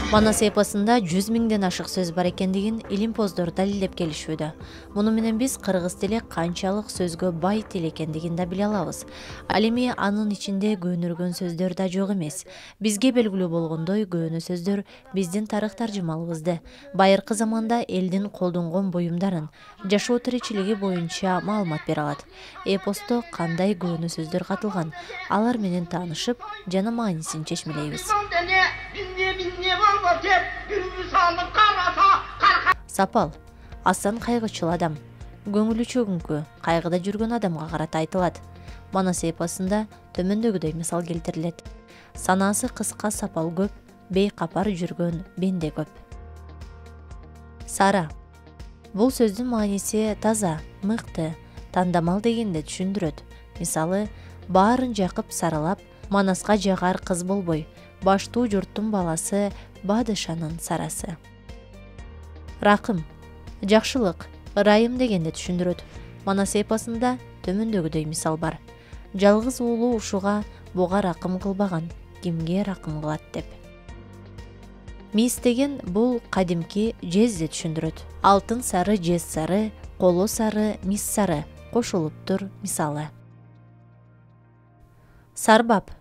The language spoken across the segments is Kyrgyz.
Манас эпосунда 100 миңден ашык сөз бар экендигин илимпоздор далилдеп келишүүдө. Муну менен биз кыргыз тили канчалык сөзгө бай тил экендигин да биле алабыз. Ал эми анын ичинде көнүргөн сөздөр да жок эмес. Бизге белгилүү болгондой, көөнө сөздөр биздин тарых таржымалыбызды, байыркы заманда элдин колдонгон буюмдарын, жашоо тиричилиги боюнча маалымат бере алат. Эпосто кандай көөнө сөздөр катылган, алар менен таанышып, жана маанисин чечмелейбиз. Сапал асан кайгычыл адам, көңүлү чөгүңкү, кайгыда жүргөн адамга карата айтылат. Манас эпосунда төмөндөгүдөй мисал келтирилет. Санаасы кыска сапал көп, бейкапар жүргөн бенде көп. Сара. Бул сөздүн мааниси таза, мыкты, тандамал дегенди түшүндүрөт. Мисалы, баарын жакып саралап, Манаска жагар кыз болбой, баштуу журттун баласы Бадышанын сарасы. Ракым. Жакшылык, ырайым дегенди түшүндүрөт. Манас эпосунда төмөндөгүдөй мисал бар. Жалгыз уулу ушуга буга ракым кылбаган, кимге ракым кылат деп. Мис деген бул кадимки жезди түшүндүрөт. Алтын сары, жез сары, коло сары, мис сары кошулуптур мисалы. Сарбап.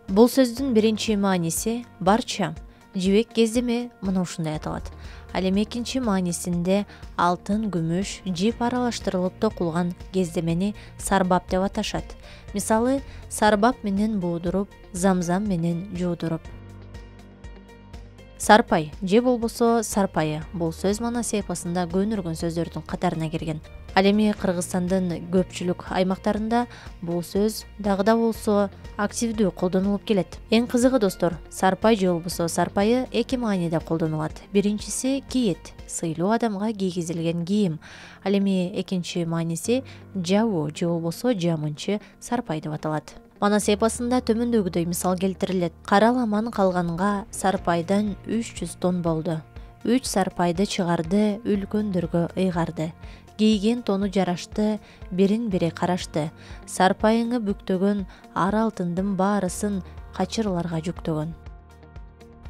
Бул сөздүн биринчи мааниси барча, жибек кездеме мына ушундай аталат. Ал эми экинчи маанисинде алтын, күмүш, жип аралаштырылып токулган кездемени сарбап деп аташат. Мисалы, сарбап менен буудуруп, замзам менен жуудуруп. Сарпай же болбосо сарпайы. Бул сөз Манас эпосунда көөнүргөн сөздөрдүн катарына кирген. Ал эми Кыргызстандын көпчүлүк аймактарында бул сөз дагы да болсо активдүү колдонулуп келет. Эң кызыгы достор, сарпай же болбосо сарпайы эки мааниде колдонулат. Биринчиси кийет, сыйлуу адамга кийгизилген кийим. Ал эми экинчи мааниси жабуу же болбосо жамынчы сарпай деп аталат. Манас эпосунда төмөндөгүдөй мисал келтирилет. Караламан калганга сарпайдан 300 тонн болду. 3 сарпайды чыгарды, үлкөндөргө ыйгарды. Кийген тону жарашты, бирин-бири карашты. Сарпайыңы бүктөгөн, ар алтындын баарысын качырларга жүктөгөн.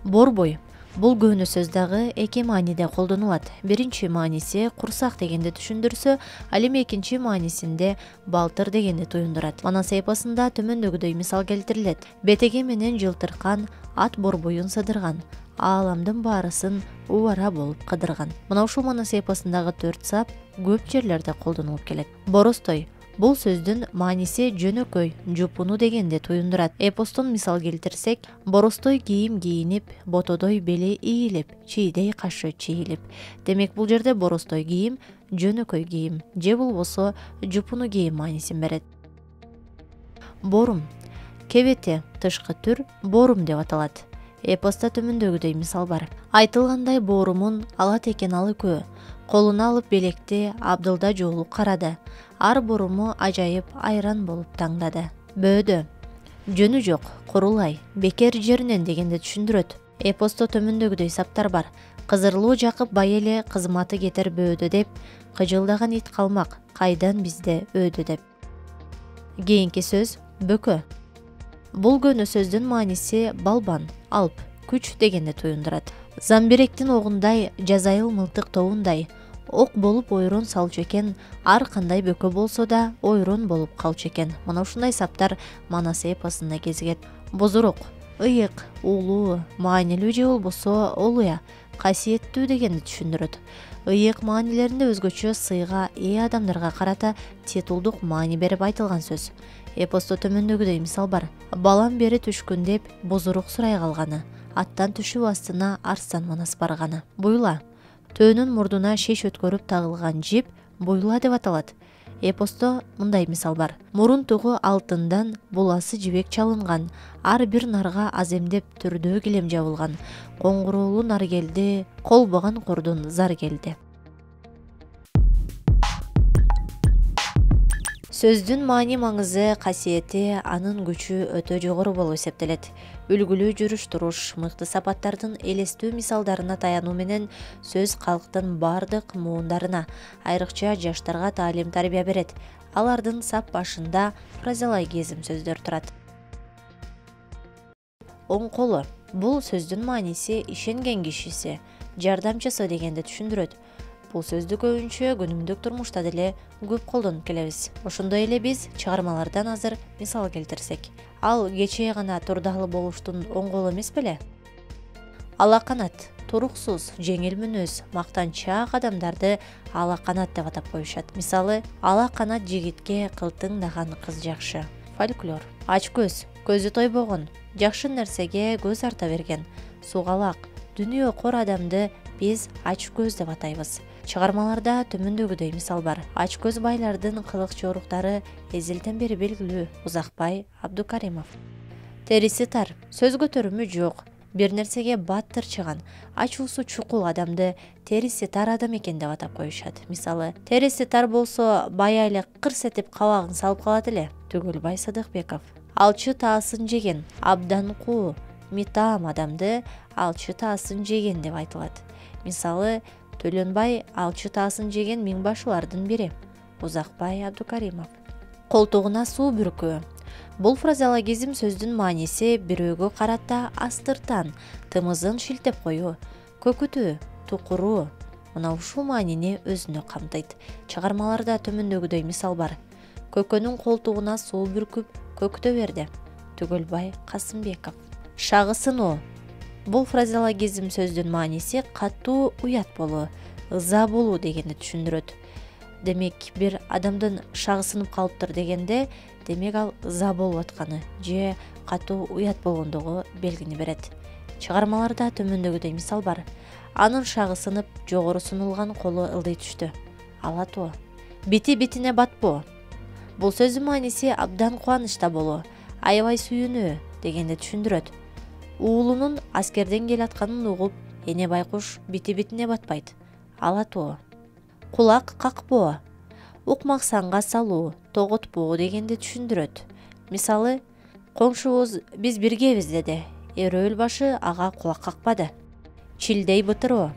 Борбой. Бул көөнө сөз дагы эки мааниде колдонулат. Биринчи мааниси курсак дегенди түшүндүрсө, ал эми экинчи маанисинде балтыр дегенди туюндурат. Манас эпосунда төмөндөгүдөй мисал келтирилет. Бетеге менен жылтыркан, ат борбоюн сыдырган, ааламдын баарысын убара болуп кыдырган. Мына ушул Манас эпосундагы 4 сап көп жерлерде колдонулуп келет. Боростой. Бул сөздүн мааниси жөнөкөй, жупуну дегенди туюндурат. Эпостон мисал келтирсек, боростой кийим кийинип, ботодой бели ийилип, чийдей кашы чийилип. Демек бул жерде боростой кийим, жөнөкөй кийим же болбосо жупуну кийим маанисин берет. Борум. Кебете, тышкы түр борум деп аталат. Эпоста төмөндөгүдөй мисал бар. Айтылгандай боорумун ала текен алы көө. Колуна алып белекти абдылда жоолуп карады. Ар боруму ажайып айран болуп таңдады. Бөөдө. Жөнү жок, курулай, бекер жеринен дегенди түшүндүрөт. Эпосто төмөндөгүдөй саптар бар. Кызырлуу жакып бай эле кызматы кетер бөөдө деп, кыжылдаган ит калмак, кайдан бизде өдө деп. Кийинки сөз бөкө. Бул көөнө сөздүн мааниси балбан, алп, күч дегенди туюндурат. Замбиректин огундай, жазайыл мылтык тобундай, ок болуп ойрон салчу экен, ар кандай бөкө болсо да ойрон болуп калчу экен. Мына ушундай саптар Манас эпосунда кезигет. Бозорок, ыйык, уулуу, маанилүү же болбосо олуя, касиеттүү дегенди түшүндүрөт. Ыйык маанилеринде өзгөчө сыйга ээ адамдарга карата титулдук маани берип айтылган сөз. Эпосто төмөндөгүдөй мисал бар. Балам бери түшкүн деп бозорок сурай калганы, аттан түшүп астына арстан Манас барганы. Буйла. Төөнүн мурдуна шеш өткөрүп тагылган жип буйла деп аталат. Эпосто мындай мисал бар. Мурун тугу алтындан, буласы жибек чалынган, ар бир нарга аземдеп түрдөө килем жабылган. Коңгуроолу нар келди, колбогон курдун зар келди. Сөздүн маани маңызы, касиети, анын күчү өтө жогору болуп эсептелет. Үлгүлүү жүрүш-туруш, мыкты сапаттардын элестүү мисалдарына таянуу менен сөз калктын бардык муундарына, айрыкча жаштарга таалим-тарбия берет. Алардын сап башында фразеологизм сөздөр турат. оң колу. Бул сөздүн мааниси ишенген кишиси, жардамчысы дегенди түшүндүрөт. Бул сөздү көбүнчө күнүмдүк турмушта деле көп колдонуп келебиз. Ошондой эле биз чыгармалардан азыр мисал келтирсек, ал кечээ гана турдалы болуштун оң колу эмес беле? Алаканат, туруксуз, жеңил мүнөз, мактанчаак адамдарды алаканат деп атап коюшат. Мисалы, алаканат жигитке кылтыңдаган кыз жакшы. Фольклор. Ач көз, көзү тойбогон, жакшы нерсеге көз арта берген, сугалак, дүнүйө кор адамды биз ач көз деп атайбыз. Чыгармаларда төмөндөгүдөй мисал бар. Ач көз байлардын кылык жоруктары эзелден бери белгилүү. Узакбай Абдукаримов. Териси тар, сөз көтөрүмү жок, бир нерсеге баттыр чыган, ачуусу чукул адамды териси тар адам экен деп атап коюшат. Мисалы, териси тар болсо бая эле кырс этип кабагын салып калат эле. Түгөлбай Садыкбеков. Алчы таасын жеген, абдан куу, митаам адамды алчы таасын жеген деп айтылат. Мисалы, Төлөнбай алчы таасын жеген миңбашылардын бири. Узакбай Абдукаримов. Колтугуна суу бүркүү. Бул фразеологизм сөздүн мааниси бирөөгө карата астыртан, тымызын шилтеп коюу, көкүтүү, тукуруу. Мына ушул маанини өзүнө камтыйт. Чыгармаларда төмөндөгүдөй мисал бар. Көкөнүн колтугуна суу бүркүп, көктө берди. Түгөлбай Касымбеков. Шагысынуу. Бул фразеологизм сөздүн мааниси катуу уят болуу, ыза болуу дегенди түшүндүрөт. Демек, бир адамдын шагысынып калыптыр дегенде, демек ал ыза болуп атканы же катуу уят болгондугу белгини берет. Чыгармаларда төмөндөгүдөй мисал бар. Анын шагысынып, жогору сунулган колу ылдый түштү. Алатуу. Бити битине батпоо. Бул сөздүн мааниси абдан кубанычта болуу, аябай сүйүнүү дегенди түшүндүрөт. Уулунун аскерден келатканын угуп, эне байкуш бити-битине батпайт. Алатуу. Кулак какпоо. Укмаксанга салуу, тоготпоо дегенди түшүндүрөт. Мисалы, коңшубуз биз биргебиз деди. Эрөөл башы ага кулак какпады. Чилдей бытыроо.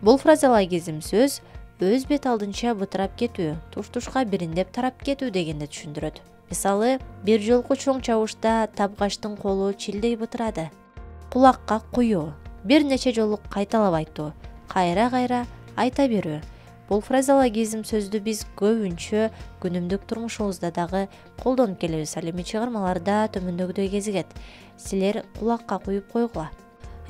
Бул фразеологизм сөз өз бет алдынча бытырап кетүү, туш-тушка бириндеп тарап кетүү дегенди түшүндүрөт. Мисалы, бир жолку чоң чабышта табгачтын колу чилдей бытырады. Кулакка куюу. Бир нече жолу кайталап айтуу, кайра-кайра айта берүү. Бул фразеологизм сөздү биз көбүнчө күнүмдүк турмушубузда дагы колдонуп келебиз. Ал эми чыгармаларда төмөндөгүдөй кезигет. Силер кулакка куюп койгула.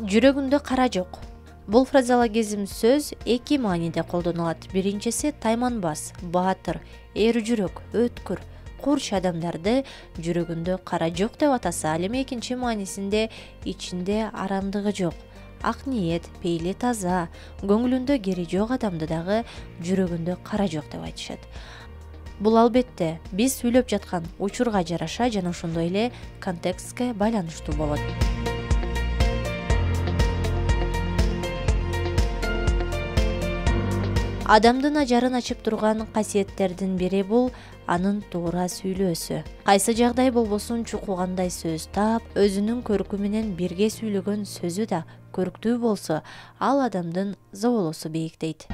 Жүрөгүндө кара жок. Бул фразеологизм сөз эки мааниде колдонулат. Биринчиси тайманбас, баатыр, эр жүрөк, өткүр, курч адамдарды жүрөгүндө кара жок деп атаса, ал эми экинчи маанисинде ичинде арамдыгы жок, ак ниет, пейили таза, көңүлүндө кери жок адамды дагы жүрөгүндө кара жок деп айтышат. Бул албетте биз сүйлөп жаткан учурга жараша жана ошондой эле контекстке байланыштуу болот. Адамдын ажарын ачып турган касиеттердин бири бул анын туура сүйлөөсү. Кайсы жагдай болбосун чукулгандай сөз таап, өзүнүн көркү менен бирге сүйлөгөн сөзү да көрктүү болсо, ал адамдын зоболосу бийик дейт.